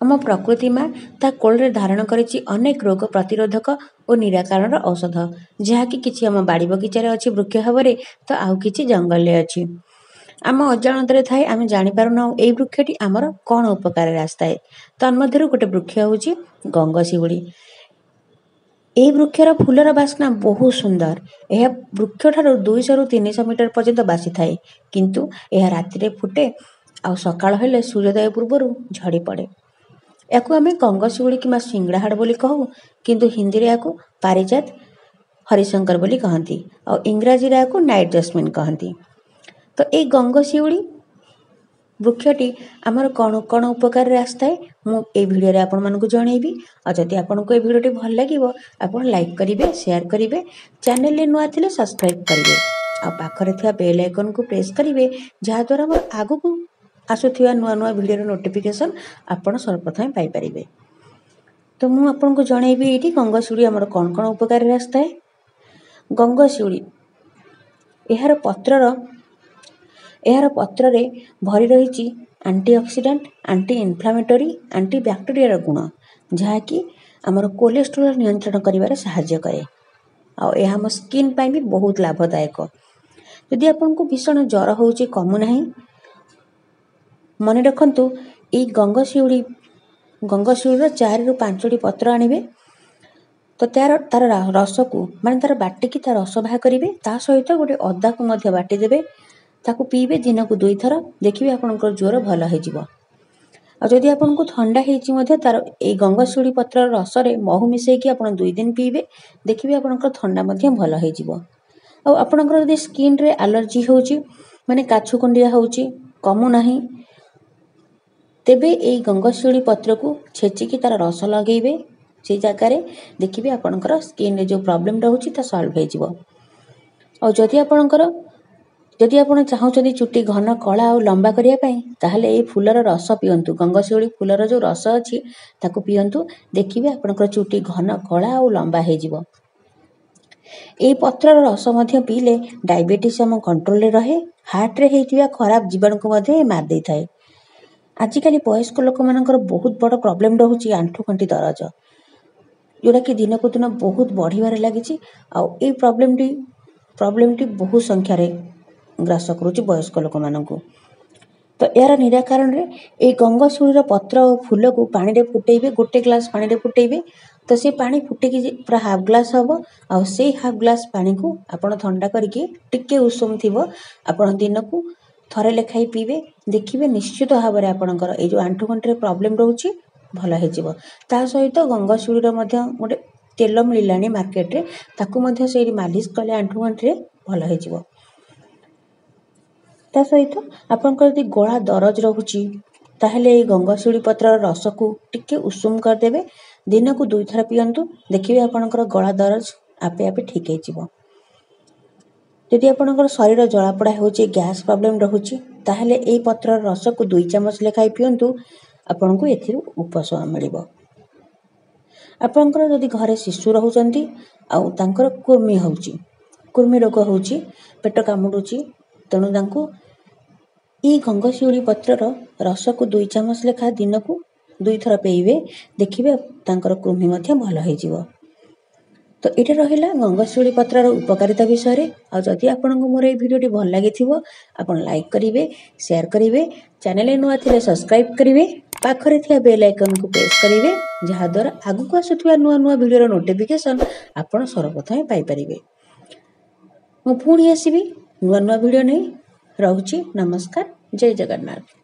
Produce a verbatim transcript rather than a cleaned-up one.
ଆମ ପ୍ରକୃତି ମା ତା କୋଳରେ ଧାରଣ କରିଛି ଅନେକ ରୋଗ ପ୍ରତିରୋଧକ ଓ ନିରାକରଣର ଔଷଧ, ଯାହାକି କିଛି ଆମ ବାଡ଼ି ବଗିଚାରେ ଅଛି ବୃକ୍ଷ ଭାବରେ ତ ଆଉ କିଛି ଜଙ୍ଗଲରେ ଅଛି। ଆମ ଅଜାଣତରେ ଥାଏ, ଆମେ ଜାଣିପାରୁନାହୁଁ ଏଇ ବୃକ୍ଷଟି ଆମର କ'ଣ ଉପକାରରେ ଆସିଥାଏ। ତନ୍ମଧ୍ୟରୁ ଗୋଟେ ବୃକ୍ଷ ହେଉଛି ଗଙ୍ଗଶିଉଳି। ଏହି ବୃକ୍ଷର ଫୁଲର ବାସ୍ନା ବହୁତ ସୁନ୍ଦର। ଏହା ବୃକ୍ଷଠାରୁ ଦୁଇଶହରୁ ତିନିଶହ ମିଟର ପର୍ଯ୍ୟନ୍ତ ବାସିଥାଏ, କିନ୍ତୁ ଏହା ରାତିରେ ଫୁଟେ ଆଉ ସକାଳ ହେଲେ ସୂର୍ଯ୍ୟୋଦୟ ପୂର୍ବରୁ ଝଡ଼ି ପଡ଼େ। ଏହାକୁ ଆମେ ଗଙ୍ଗଶିଉଳି କିମ୍ବା ସିଙ୍ଗଡ଼ାହାଡ଼ ବୋଲି କହୁ, କିନ୍ତୁ ହିନ୍ଦୀରେ ଏହାକୁ ପାରିଜାତ ହରିଶଙ୍କର ବୋଲି କହନ୍ତି ଆଉ ଇଂରାଜୀରେ ଏହାକୁ ନାଇଟ୍ ଜସ୍ମିନ୍ କହନ୍ତି। ତ ଏଇ ଗଙ୍ଗଶିଉଳି ବୃକ୍ଷଟି ଆମର କ'ଣ କ'ଣ ଉପକାରରେ ଆସିଥାଏ, ମୁଁ ଏଇ ଭିଡ଼ିଓରେ ଆପଣମାନଙ୍କୁ ଜଣେଇବି। ଆଉ ଯଦି ଆପଣଙ୍କୁ ଏ ଭିଡ଼ିଓଟି ଭଲ ଲାଗିବ, ଆପଣ ଲାଇକ୍ କରିବେ, ସେୟାର କରିବେ, ଚ୍ୟାନେଲରେ ନୂଆ ଥିଲେ ସବସ୍କ୍ରାଇବ୍ କରିବେ ଆଉ ପାଖରେ ଥିବା ବେଲ୍ ଆଇକନ୍କୁ ପ୍ରେସ୍ କରିବେ, ଯାହାଦ୍ୱାରା ମୋର ଆଗକୁ ଆସୁଥିବା ନୂଆ ନୂଆ ଭିଡ଼ିଓର ନୋଟିଫିକେସନ୍ ଆପଣ ସର୍ବପ୍ରଥମେ ପାଇପାରିବେ। ତ ମୁଁ ଆପଣଙ୍କୁ ଜଣେଇବି ଏଇଠି ଗଙ୍ଗଶିଉଳି ଆମର କ'ଣ କ'ଣ ଉପକାରରେ ଆସିଥାଏ। ଗଙ୍ଗଶିଉଳି ଏହାର ପତ୍ରର ଏହାର ପତ୍ରରେ ଭରି ରହିଛି ଆଣ୍ଟିଅକ୍ସିଡାଣ୍ଟ, ଆଣ୍ଟି ଇନଫ୍ଲାମେଟୋରୀ, ଆଣ୍ଟି ବ୍ୟାକ୍ଟେରିଆର ଗୁଣ, ଯାହାକି ଆମର କୋଲେଷ୍ଟ୍ରୋଲ ନିୟନ୍ତ୍ରଣ କରିବାରେ ସାହାଯ୍ୟ କରେ। ଆଉ ଏହା ଆମ ସ୍କିନ୍ ପାଇଁ ବି ବହୁତ ଲାଭଦାୟକ। ଯଦି ଆପଣଙ୍କୁ ଭୀଷଣ ଜ୍ୱର ହେଉଛି, କମୁନାହିଁ, ମନେ ରଖନ୍ତୁ ଏଇ ଗଙ୍ଗଶିଉଳି ଗଙ୍ଗଶିଉଳିର ଚାରିରୁ ପାଞ୍ଚଟି ପତ୍ର ଆଣିବେ, ତ ତାର ତାର ରସକୁ, ମାନେ ତାର ବାଟିକି ତା ରସ ବାହାର କରିବେ। ତା ସହିତ ଗୋଟେ ଅଦାକୁ ମଧ୍ୟ ବାଟିଦେବେ, ତାକୁ ପିଇବେ ଦିନକୁ ଦୁଇଥର, ଦେଖିବେ ଆପଣଙ୍କର ଜ୍ୱର ଭଲ ହେଇଯିବ। ଆଉ ଯଦି ଆପଣଙ୍କୁ ଥଣ୍ଡା ହେଇଛି ମଧ୍ୟ, ତାର ଏଇ ଗଙ୍ଗଶିଉଳି ପତ୍ରର ରସରେ ମହୁ ମିଶାଇକି ଆପଣ ଦୁଇ ଦିନ ପିଇବେ, ଦେଖିବେ ଆପଣଙ୍କର ଥଣ୍ଡା ମଧ୍ୟ ଭଲ ହେଇଯିବ। ଆଉ ଆପଣଙ୍କର ଯଦି ସ୍କିନ୍ରେ ଆଲର୍ଜି ହେଉଛି, ମାନେ କାଛୁ କୁଣ୍ଡିଆ ହେଉଛି, କମୁନାହିଁ, ତେବେ ଏଇ ଗଙ୍ଗଶିଉଳି ପତ୍ରକୁ ଛେଚିକି ତାର ରସ ଲଗେଇବେ ସେଇ ଜାଗାରେ, ଦେଖିବେ ଆପଣଙ୍କର ସ୍କିନ୍ରେ ଯେଉଁ ପ୍ରୋବ୍ଲେମ୍ ରହୁଛି ତା ସଲ୍ଭ ହେଇଯିବ। ଆଉ ଯଦି ଆପଣଙ୍କର ଯଦି ଆପଣ ଚାହୁଁଛନ୍ତି ଚୁଟି ଘନ, କଳା ଆଉ ଲମ୍ବା କରିବା ପାଇଁ, ତାହେଲେ ଏଇ ଫୁଲର ରସ ପିଅନ୍ତୁ। ଗଙ୍ଗଶିଉଳି ଫୁଲର ଯେଉଁ ରସ ଅଛି ତାକୁ ପିଅନ୍ତୁ, ଦେଖିବେ ଆପଣଙ୍କର ଚୁଟି ଘନ, କଳା ଆଉ ଲମ୍ବା ହେଇଯିବ। ଏଇ ପତ୍ରର ରସ ମଧ୍ୟ ପିଇଲେ ଡାଇବେଟିସ୍ ଆମ କଣ୍ଟ୍ରୋଲରେ ରହେ, ହାର୍ଟରେ ହେଇଥିବା ଖରାପ ଜୀବାଣୁକୁ ମଧ୍ୟ ଏ ମାରି ଦେଇଥାଏ। ଆଜିକାଲି ବୟସ୍କ ଲୋକମାନଙ୍କର ବହୁତ ବଡ଼ ପ୍ରୋବ୍ଲେମ୍ ରହୁଛି ଆଣ୍ଠୁ ଗଣ୍ଠି ଦରଜ, ଯେଉଁଟାକି ଦିନକୁ ଦିନ ବହୁତ ବଢ଼ିବାରେ ଲାଗିଛି। ଆଉ ଏଇ ପ୍ରୋବ୍ଲେମଟି ପ୍ରୋବ୍ଲେମଟି ବହୁତ ସଂଖ୍ୟାରେ ଗ୍ରାସ କରୁଛି ବୟସ୍କ ଲୋକମାନଙ୍କୁ। ତ ଏହାର ନିରାକରଣରେ ଏଇ ଗଙ୍ଗଶିଉଳିର ପତ୍ର ଓ ଫୁଲକୁ ପାଣିରେ ଫୁଟେଇବେ, ଗୋଟେ ଗ୍ଲାସ୍ ପାଣିରେ ଫୁଟେଇବେ। ତ ସେ ପାଣି ଫୁଟିକି ପୁରା ହାଫ୍ ଗ୍ଲାସ୍ ହେବ, ଆଉ ସେଇ ହାଫ୍ ଗ୍ଲାସ୍ ପାଣିକୁ ଆପଣ ଥଣ୍ଡା କରିକି, ଟିକେ ଉଷୁମ ଥିବ, ଆପଣ ଦିନକୁ ଥରେ ଲେଖାଇ ପିଇବେ। ଦେଖିବେ ନିଶ୍ଚିତ ଭାବରେ ଆପଣଙ୍କର ଏଇ ଯେଉଁ ଆଣ୍ଠୁଗଣ୍ଠିରେ ପ୍ରୋବ୍ଲେମ୍ ରହୁଛି ଭଲ ହେଇଯିବ। ତା ସହିତ ଗଙ୍ଗଶିଉଳିର ମଧ୍ୟ ଗୋଟେ ତେଲ ମିଳିଲାଣି ମାର୍କେଟରେ, ତାକୁ ମଧ୍ୟ ସେଇଠି ମାଲିସ କଲେ ଆଣ୍ଠୁଗଣ୍ଠିରେ ଭଲ ହେଇଯିବ। ତା ସହିତ ଆପଣଙ୍କର ଯଦି ଗଳା ଦରଜ ରହୁଛି, ତାହେଲେ ଏଇ ଗଙ୍ଗଶିଉଳି ପତ୍ରର ରସକୁ ଟିକେ ଉଷୁମ କରିଦେବେ, ଦିନକୁ ଦୁଇଥର ପିଅନ୍ତୁ, ଦେଖିବେ ଆପଣଙ୍କର ଗଳା ଦରଜ ଆପେ ଆପେ ଠିକ୍ ହେଇଯିବ। ଯଦି ଆପଣଙ୍କର ଶରୀର ଜଳାପୋଡ଼ା ହେଉଛି, ଗ୍ୟାସ୍ ପ୍ରୋବ୍ଲେମ୍ ରହୁଛି, ତାହେଲେ ଏଇ ପତ୍ରର ରସକୁ ଦୁଇ ଚାମଚ ଲେଖାଏଁ ପିଅନ୍ତୁ, ଆପଣଙ୍କୁ ଏଥିରୁ ଉପଶମ ମିଳିବ। ଆପଣଙ୍କର ଯଦି ଘରେ ଶିଶୁ ରହୁଛନ୍ତି ଆଉ ତାଙ୍କର କୃମି ହେଉଛି, କୃମି ରୋଗ ହେଉଛି, ପେଟ କାମୁଡ଼ୁଛି, ତେଣୁ ତାଙ୍କୁ ଏଇ ଗଙ୍ଗଶିଉଳି ପତ୍ରର ରସକୁ ଦୁଇ ଚାମଚ ଲେଖା ଦିନକୁ ଦୁଇଥର ପିଇବେ, ଦେଖିବେ ତାଙ୍କର କୃମି ମଧ୍ୟ ଭଲ ହେଇଯିବ। ତ ଏଇଟା ରହିଲା ଗଙ୍ଗଶିଉଳି ପତ୍ରର ଉପକାରିତା ବିଷୟରେ। ଆଉ ଯଦି ଆପଣଙ୍କୁ ମୋର ଏଇ ଭିଡ଼ିଓଟି ଭଲ ଲାଗିଥିବ, ଆପଣ ଲାଇକ୍ କରିବେ, ସେୟାର କରିବେ, ଚ୍ୟାନେଲରେ ନୂଆ ଥିଲେ ସବସ୍କ୍ରାଇବ୍ କରିବେ, ପାଖରେ ଥିବା ବେଲ୍ ଆଇକନ୍କୁ ପ୍ରେସ୍ କରିବେ, ଯାହାଦ୍ୱାରା ଆଗକୁ ଆସୁଥିବା ନୂଆ ନୂଆ ଭିଡ଼ିଓର ନୋଟିଫିକେସନ୍ ଆପଣ ସର୍ବପ୍ରଥମେ ପାଇପାରିବେ। ମୁଁ ପୁଣି ଆସିବି ନୂଆ ନୂଆ ଭିଡ଼ିଓ ନେଇ। ରହୁଛି, ନମସ୍କାର, ଜୟ ଜଗନ୍ନାଥ।